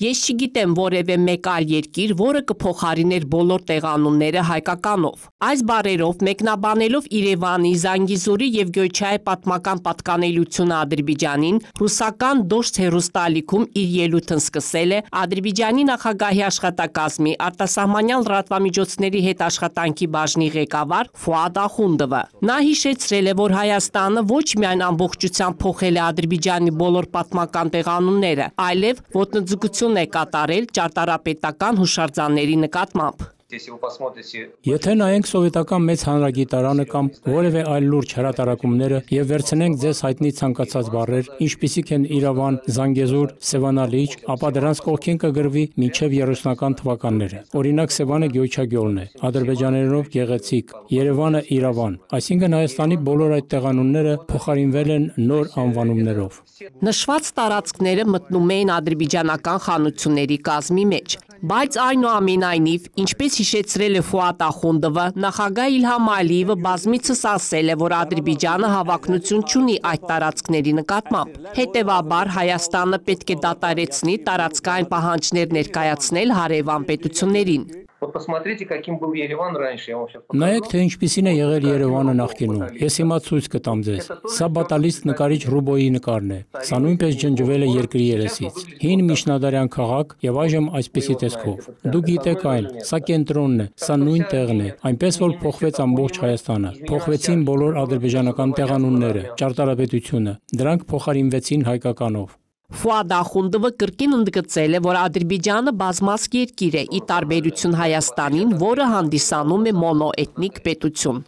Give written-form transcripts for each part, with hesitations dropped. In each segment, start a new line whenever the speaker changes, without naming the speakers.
Ես չգիտեմ որևէ մեկ այլ երկիր, որը կփոխարիներ բոլոր տեղանունները հայկականով։ Այս բառերով մեկնաբանելով Երևանի, Զանգիզուրի եւ Գյոյչայի պատմական պատկանելությունը Ադրբեջանին, ռուսական Դոշտ հեռուստաալիքում իր ելույթն սկսել է Ադրբեջանի նախագահի աշխատակազմի արտասահմանյան լրատվամիջոցների հետ աշխատանքի բաժնի ղեկավար Ֆուադ Ախունդովը։ Նա հիշեցրել է, որ Հայաստանը ոչ միայն ամբողջությամբ փոխել է Ադրբեջանի բոլոր պատմական տեղանունները, այլև ոտնձգություն է կատարել ճարտարապետական հուշարձանների նկատմամբ։
Եթե նայենք սովետական մեծ հանրագիտարանը կամ որևէ այլ լուրջ հրատարակումները եւ վերցնենք ձեզ հայտնի ցանկացած բառեր, ինչպիսիք են Իրավան, Զանգեզուր, Սևանալիճ, ապա դրանց կողքին կգրվի մինչև 30-ական թվականները։ Օրինակ Սևանը Գյոյչագյոլն է, ադրբեջաներենով գեղեցիկ, Երևանը Իրավան, այսինքն Հայաստանի բոլոր այդ տեղանունները փոխարինվել են նոր անվանումներով։
Նշված տարածքները մտնում էին ադրբեջանական խանությունների կազմի մեջ, բայց այնուամենայնիվ, ինչպես հիշեցրել է Ֆուադ Ախունդովը, նախագահ Իլհամ Ալիևը բազմիցս ասել է, որ Ադրբեջանը հավակնություն չունի այդ տարածքների նկատմամբ։ Հետևաբար Հայաստանը պետք է դադարեցնի տարածքային պահանջներ ներկայացնել հարևան պետություններին։
Նայեք, թե ինչպիսին է եղել Երևանը նախկինում։ Ես հիմա ցույց կտամ ձեզ։ Սա բատալիստ նկարիչ Ռուբոյի նկարն է։ Սա նույնպես ջնջվել է երկրի երեսից։ Հին միջնադարյան քաղաք եւ այժմ այսպիսի տեսքով։ Դուք գիտեք այն, սա կենտրոնն է, սա նույն տեղն է, այնպես որ փոխվեց ամբողջ Հայաստանը։ Փոխվեցին բոլոր ադրբեջանական տեղանունները, ճարտարապետությունը։ Դրանք փոխարինվեցին հայկականով։
Ֆուադ Ախունդովը կրկին ընդգծել է, որ Ադրբեջանը բազմազգ երկիր է, ի տարբերություն Հայաստանին, որը հանդիսանում է մոնոէթնիկ պետություն։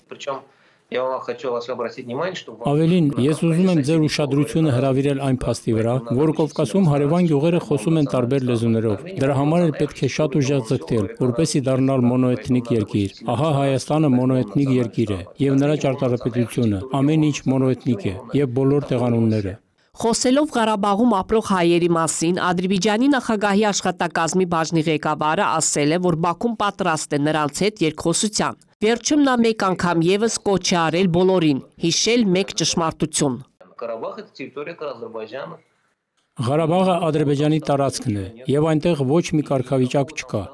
Ավելին, ես ուզում եմ ձեր ուշադրությունը հրավիրել այն փաստի վրա, որ Կովկասում հարևան գյուղերը խոսում են տարբեր լեզուներով։ Դրա համար էլ պետք է շատ ուժեղ ձգտել, որպեսզի դառնալ մոնոէթնիկ երկիր։ Ահա Հայաստանը մոնոէթնիկ երկիր է, եւ նրա ճարտարապետությունը, ամեն ինչ մոնոէթնիկ է, եւ բոլոր տեղանունները։
Խոսելով Ղարաբաղում ապրող հայերի մասին, Ադրբեջանի նախագահի աշխատակազմի բաժնի ղեկավարը ասել է, որ Բաքուն պատրաստ է նրանց հետ երկխոսության։ Վերջում նա մեկ անգամ եւս կոչ է արել բոլորին, հիշել մեկ ճշմարտություն։
Ղարաբաղը Ադրբեջանի տարածքն է, եւ այնտեղ ոչ մի կարգավիճակ չկա։